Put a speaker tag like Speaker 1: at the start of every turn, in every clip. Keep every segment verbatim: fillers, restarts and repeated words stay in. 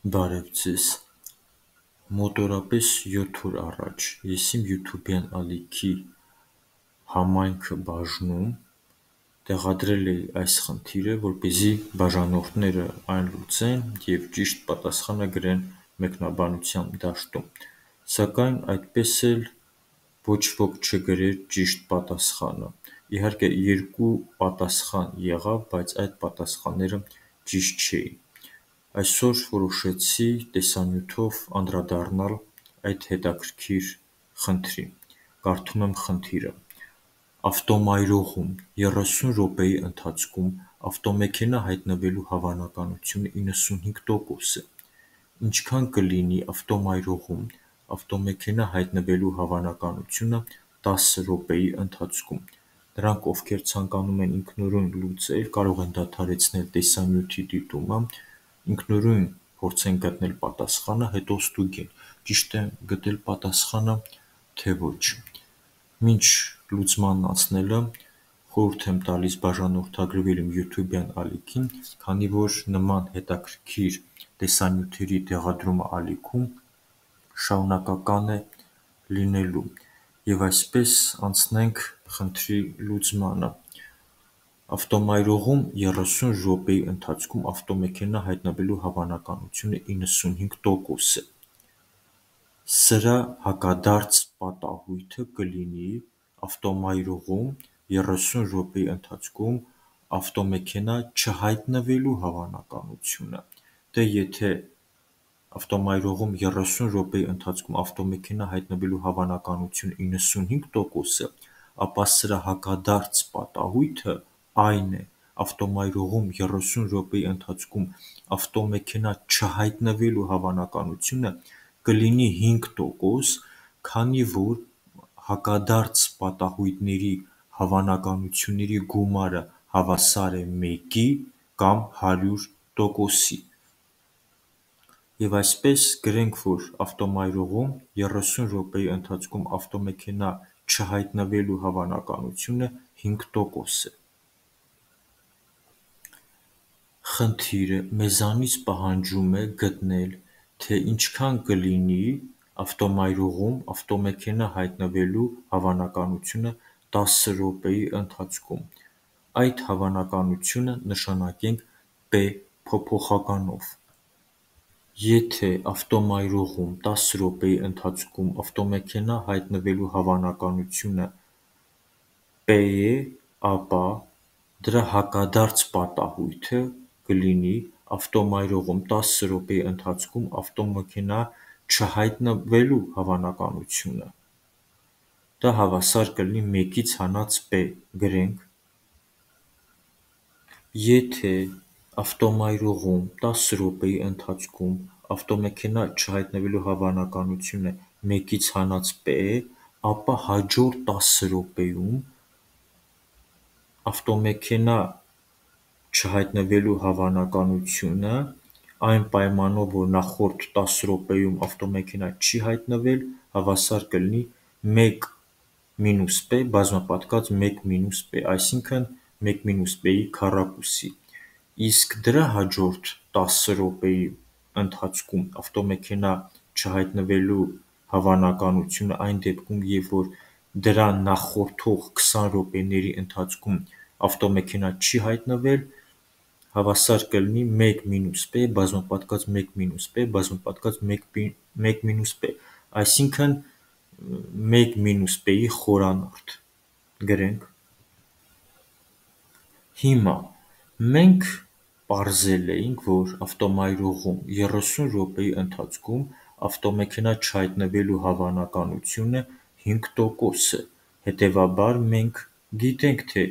Speaker 1: Բարև ձեզ, մոտորապես յոթ օր առաջ ես իմ յութուբյան ալիքի համայնքը բաժնում տեղադրել էի այս խնդիրը, որպեսզի բաժանորդները այն լուծեն և ճիշտ պատասխանը գրեն մեկնաբանության դաշտում, սակայն այդպես էլ ոչ ոք չգրեր ճիշտ պատասխանը, իհարկե երկու պատասխան եղավ, բայց այդ պատասխանները ճիշտ չէին, այսօր որոշեցի տեսանյութով անդրադառնալ այդ հետաքրքիր խնդրին, կարդում եմ խնդիրը. Ավտոմայրուղում երեսուն րոպեի ընթացքում ավտոմեքենա հայտնվելու հավանականությունը իննսունհինգ տոկոս է, ինչքան կլինի ավտոմայրուղում ավտոմեքենա հայտնվելու հավանականությունը տասը րոպեի ընթացքում, նրանք, ովքեր ցանկանում են ինքնուրույն լուծել, կարող են դադարեցնել տեսանյութի դիտումը, ինքնուրույն փորձեն գտնել պատասխանը, հետո ստուգեն, ճիշտ եմ գտել պատասխանը, թե ոչ, մինչ լուծմանն անցնելը խորհուրդ եմ տալիս բաժանորդագրվել իմ յութուբյան ալիքին, քանի որ նման հետաքրքիր տեսանյութերի տեղադրումը ալիքում շարունակական է լինելու, և այսպես անցնենք խնդրի լուծմանը, ավտոմայրուղում երեսուն րոպեի ընթացքում ավտոմեքենա հայտնվելու հավանականությունը իննսունհինգ տոկոս է, սրա հակադարձ պատահույթը կլինի ավտոմայրուղում երեսուն րոպեի ընթացքում ավտոմեքենա չհայտնվելու հավանականությունը, դե եթե ավտոմայրուղում երեսուն րոպեի ընթացքում ավտոմեքենա հայտնվելու հավանականությունը իննսունհինգ տոկոս է, ապա սրա հակադարձ պատահույթը այն է ավտոմայրուղում երեսուն րոպեի ընթացքում ավտոմեքենա չհայտնվելու հավանականությունը կլինի հինգ տոկոս, քանի որ հակադարձ պատահույթների հավանականությունների գումարը հավասար է մեկի կամ հարյուր տոկոսի, և այսպես գրենք, որ ավտոմայրուղում երեսուն րոպեի ընթացքում ավտոմեքենա չհայտնվելու հավանականությունը հինգ տոկոս է, խնդիրը մեզանից պահանջում է գտնել, թե ինչքան կլինի ավտոմայրուղում ավտոմեքենա հայտնվելու հավանականությունը տասը րոպեի ընթացքում, այդ հավանականությունը նշանակենք P փոփոխականով, եթե ավտոմայրուղում տասը րոպեի ընթացքում ավտոմեքենա հայտնվելու հավանականությունը P է, ապա դրա հակադարձ պատահույթը կլինի ավտոմայրուղում տասը րոպեի ընթացքում ավտոմեքենա չհայտնվելու հավանականությունը, դա հավասար կլինի մեկից հանած P, գրենք, եթե ավտոմայրուղում տասը րոպեի ընթացքում ավտոմեքենա չհայտնվելու հավանականությունը մեկից հանած P է, ապա հաջորդ տասը րոպեում ավտոմեքենա չհայտնվելու հավանականությունը, այն պայմանով, որ նախորդ տասը րոպեում ավտոմեքենա չի հայտնվել, հավասար կլինի մեկ մինուս P բազմապատկված մեկ մինուս P, այսինքն մեկ մինուս P-ի քառակուսի, իսկ դրա հաջորդ տասը րոպեի ընթացքում ավտոմեքենա չհայտնվելու հավանականությունը այն դեպքում, երբ որ դրան նախորդող քսան րոպեների ընթացքում ավտոմեքենա չի հայտնվել, հավասար կլինի մեկ մինուս P բազմապատկված մեկ մինուս P բազմապատկված մեկ մինուս P, այսինքն մեկ մինուս P-ի խորանարդ, գրենք, հիմա մենք պարզել էինք, որ ավտոմայրուղում երեսուն րոպեի ընթացքում ավտոմեքենա չհայտնվելու հավանականությունը հինգ տոկոս է, հետևաբար մենք գիտենք, թե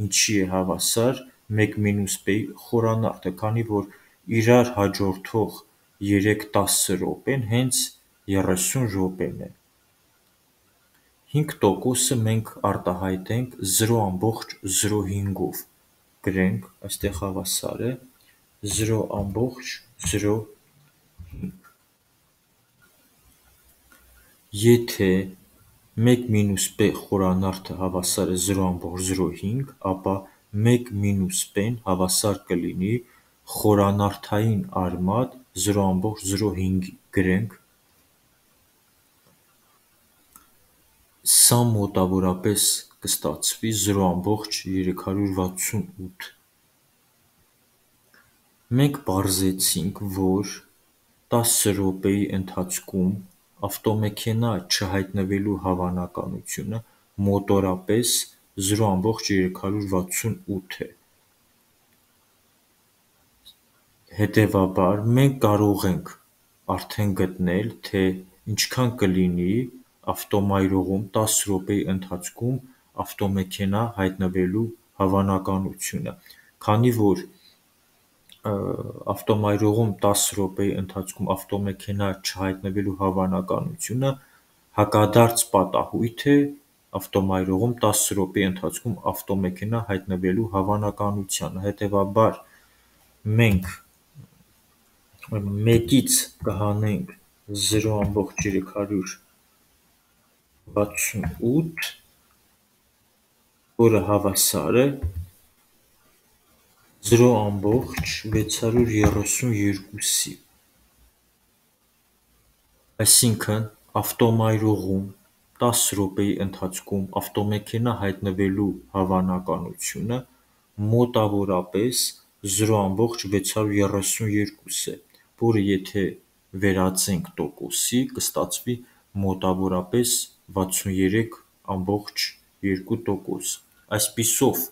Speaker 1: ինչի է հավասար մեկ մինուս P-ի խորանարդը, քանի որ իրար հաջորդող երեք տասը րոպեն հենց երեսուն րոպեն է, հինգ տոկոսը մենք արտահայտենք զրո ամբողջ զրո հինգով, գրենք, այստեղ հավասար է զրո ամբողջ զրո հինգ, եթե մեկ մինուս P խորանարդը հավասար է զրո ամբողջ զրո հինգ, ապա մեկ մինուս P-ն հավասար կլինի խորանարդային արմատ զրո ամբողջ զրո հինգ գրենք, սա մոտավորապես կստացվի զրո ամբողջ երեք հարյուր վաթսունութ։ Մենք պարզեցինք, որ տասը րոպեի ընթացքում ավտոմեքենա չհայտնվելու հավանականությունը մոտորապես զրո ամբողջ երեք հարյուր վաթսունութ է։ Հետևաբար, մենք կարող ենք արդեն գտնել, թե ինչքան կլինի ավտոմայրուղում տասը րոպեի ընթացքում ավտոմեքենա հայտնվելու հավանականությունը, քանի որ ավտոմայրուղում տասը րոպեի ընթացքում ավտոմեքենա չհայտնվելու հավանականությունը հակադարձ պատահույթ է ավտոմայրուղում տասը րոպեի ընթացքում ավտոմեքենա հայտնվելու հավանականությանը։ Հետևաբար, մենք մեկից կհանենք զրո ամբողջ երեք հարյուր վաթսունութ, որը հավասար է զրո ամբողջ վեց հարյուր երեսունյոթի։ Այսինքն, ավտոմայրուղում տասը րոպեի ընթացքում ավտոմեքենա հայտնվելու հավանականությունը մոտավորապես զրո ամբողջ վեց հարյուր երեսունյոթ է, որը եթե վերածենք տոկոսի, կստացվի մոտավորապես վաթսունյերեք ամբողջ երկու տոկոս։ Այսպիսով,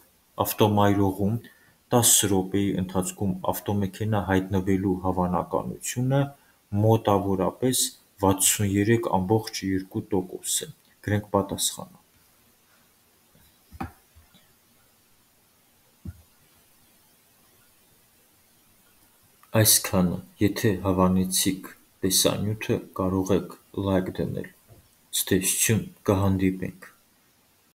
Speaker 1: ավտոմայրուղում տասը րոպեի ընթացքում ավտոմեքենա հայտնվելու հավանականությունը մոտավորապես վաթսունյերեք ամբողջ երկու տոկոս է։ Գրենք պատասխանը։ Այսքանը, եթե հավանեցիք տեսանյութը, կարող եք լայք դնել։ Ցտեսություն, կհանդիպենք։